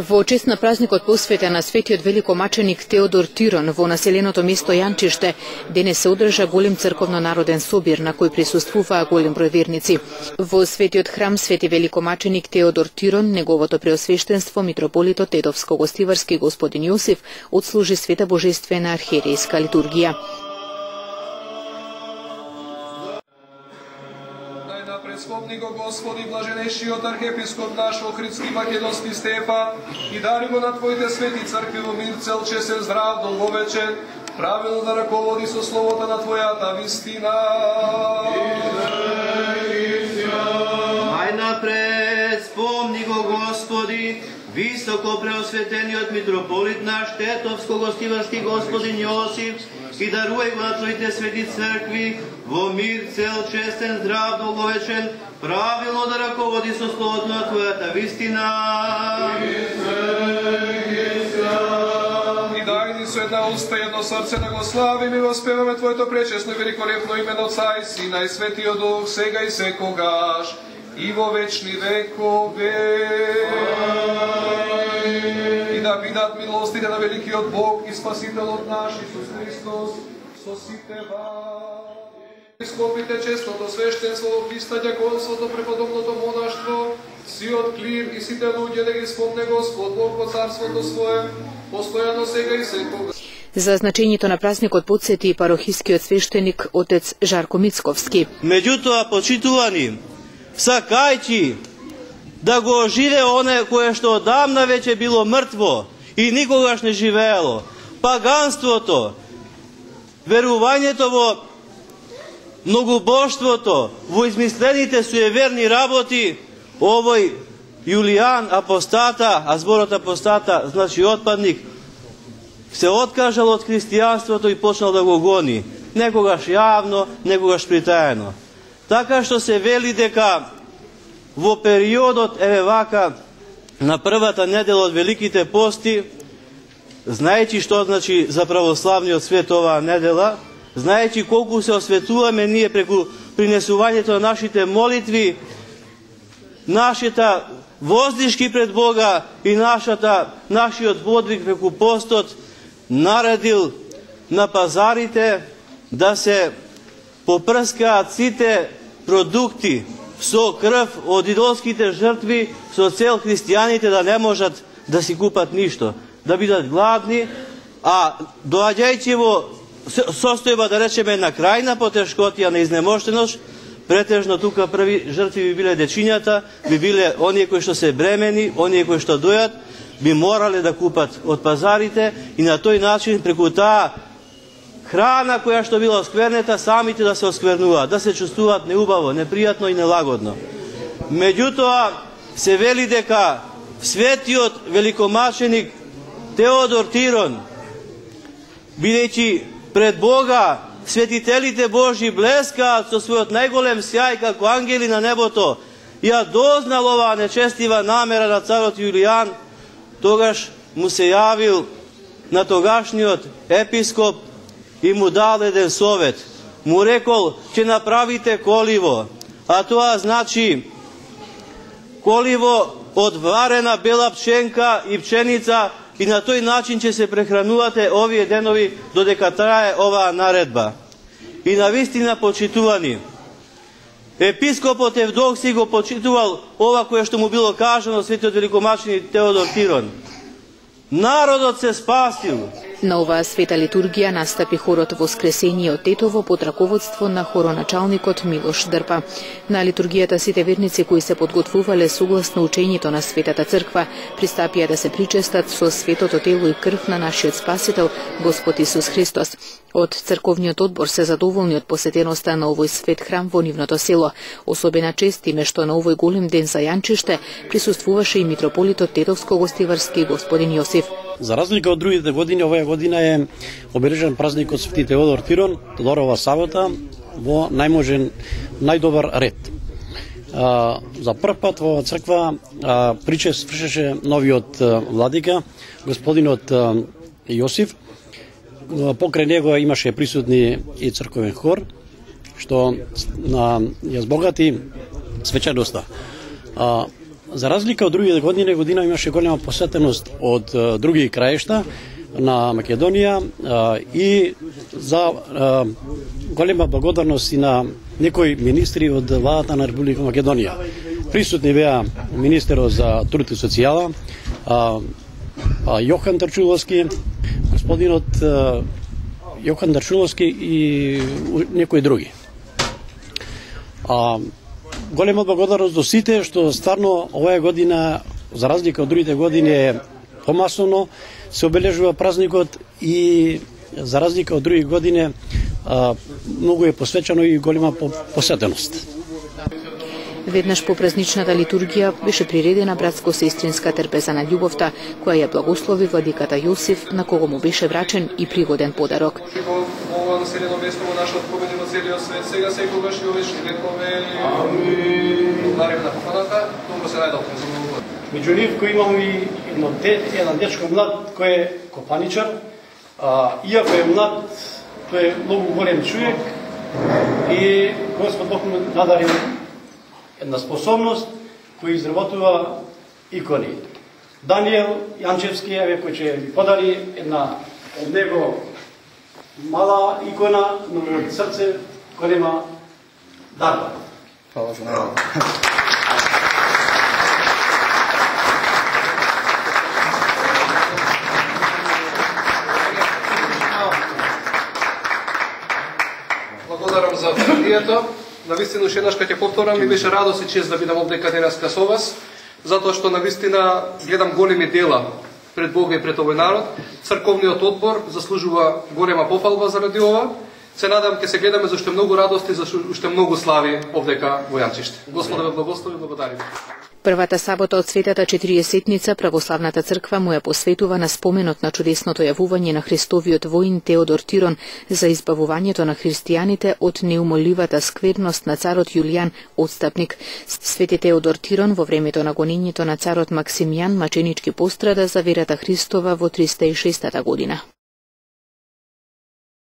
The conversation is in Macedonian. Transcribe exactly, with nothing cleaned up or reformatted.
Во чест на празникот посветен на светиот великомаченик Теодор Тирон во населеното место Јанчиште, денес се одржа голем црковно-народен собир на кој присуствуваа голем број верници. Во светиот храм Свети великомаченик Теодор Тирон, неговото преосвештенство митрополитот Тетовско-Гостиварски господин Јосиф отслужи света божествена архиерейска литургија. Спомни го Господи, блаженешиот архиепископ наш Охридски Македонски Стефан и дари го на Твоите свети цркви во мир, цел, честен, здрав, долговечен, правилно да раководи со словото на Твојата вистина. Најнапред спомни го Господи, високо преосветениот митрополит наш Тетовско-Гостиварски господин Јосиф, и даруј го на Твоите свети цркви во мир, цел, честен, здрав, долговечен, правилно да раководи со словото на Твојата вистина. И дај ни со една уста и едно срце да го славиме и воспеваме Твоето пречесно и великолепно име на Отца и Сина и Светиот Дух, сега и секогаш, и во вечни векове. И да бидат милостите на великиот Бог и Спасителот наш Исус Христос со сите вас. Ископите честното свештенство, Христа дјаконството, преподобното монаштво, сиот клир и сите луѓе да ги спомне Господ Бог во царството свое, постојано сега и секогаш. За значењето на празникот подсети и парохискиот свештеник отец Жарко Мицковски. Меѓутоа, почитувани, сакајќи да го оживе оне кое што одамна веќе било мртво и никогаш не живеело, паганството, верувањето во многобожството, во измислените суеверни работи, овој Јулијан апостата, а зборот апостата значи отпадник, се откажал од христијанството и почнал да го гони, некогаш јавно, некогаш притаено. Така што се вели дека во периодот, еве вака, на првата недела од Великите пости, знаејќи што значи за православниот свет оваа недела, знаејќи колку се осветуваме ние преку принесувањето на нашите молитви, нашата воздишки пред Бога и нашата, нашиот подвиг преку постот, наредил на пазарите да се попрскаат сите продукти со крв од идолските жртви со цел христијаните да не можат да си купат ништо, да бидат гладни, а доаѓајќи во состојба, да речеме, на крајна потешкотија, на изнемоштеност, претежно тука први жртви би биле дечињата, би биле оние кои што се бремени, оние кои што дојат, би морале да купат од пазарите и на тој начин преку таа храна која што била осквернета, самите да се осквернуваат, да се чувствуваат неубаво, непријатно и нелагодно. Меѓутоа, се вели дека светиот великомаченик Теодор Тирон, бидејќи пред Бога светителите Божји блескаат со својот најголем сјај како ангели на небото, ја дознал оваа нечестива намера на царот Јулијан, тогаш му се јавил на тогашниот епископ и му дал еден совет. Му рекол, ќе направите коливо, а тоа значи коливо од варена бела пченка и пченица, и на тој начин ќе се прехранувате овие денови додека трае оваа наредба. И навистина, почитувани, епископот Евдокси го почитувал ова кое што му било кажано светиот великомаченик Теодор Тирон. Народот се спасил. На оваа света литургија настапи хорот Воскресение од Тетово под раководство на хороначалникот Милош Дрпа. На литургијата сите верници кои се подготвувале согласно учењето на Светата црква пристапија да се причестат со светото тело и крв на нашиот Спасител Господ Исус Христос. Од црковниот одбор се задоволни од посетеноста на овој свет храм во нивното село. Особена чест име што на овој голем ден за Јанчиште присуствуваше и митрополитот Тетовско-Гостиварски господин Јосиф. За разлика од другите години, оваа година е обележан празникот Свети Теодор Тирон, Тодорова сабота, во најможен, најдобар ред. А, за прв пат во црква а, причест вршеше новиот а, владика, господинот а, Јосиф. Покрај него имаше присутни и црковен хор, што на, ја збогати свечаноста. А, за разлика од другите години, година имаше голема посетеност од а, други краишта на Македонија а, и за а, голема благодарност и на некои министри од владата на Република Македонија. Присутни беа министерот за труд и социјала, а, а, Јохан Тарчуловски, господинот а, Јохан Тарчуловски и некои други. А, голема благодарност до сите што стварно оваа година, за разлика од другите години, е помасовно се обележува празникот и за разлика од други години а, многу е посвечено и голема посетеност. Веднаш по празничната литургија беше приредена братско-сестринска трпеза на љубовта, која ја благослови владиката Јосиф, на кого му беше врачен и пригоден подарок. Ова населено место во нашиот победи во целиот свет, сега секогаш и овечни векове. Амин. Благодарим на поканата, многу се најдовме за многу. Меѓу нив кој имам и едно де, еден дечко млад кој е копаничар, а, иако е млад, тој е многу голем човек и Господ Бог му надарил една способност кој изработува икони. Даниел Јанчевски, еве кој ќе ви подари една од него мала икона, но од срце голема дарба. Фала за него. Благодарам за литургијата. Навистина, уште еднаш ќе повторам, ми беше радост и чест да бидам овдека денеска со вас, затоа што навистина гледам големи дела пред Бога и пред овој народ. Црковниот одбор заслужува голема пофалба заради ова. Се надам ќе се гледаме зашто многу радости, зашто уште многу слави овдека во Јанчиште. Господа ве благослови, благодарим. Првата сабота од Светата Четириесетница Православната црква му ја посветува на споменот на чудесното јавување на Христовиот воин Теодор Тирон за избавувањето на христијаните од неумоливата скверност на царот Јулијан Отстапник. Свети Теодор Тирон во времето на гонењето на царот Максимијан маченички пострада за верата Христова во триста и шестата година.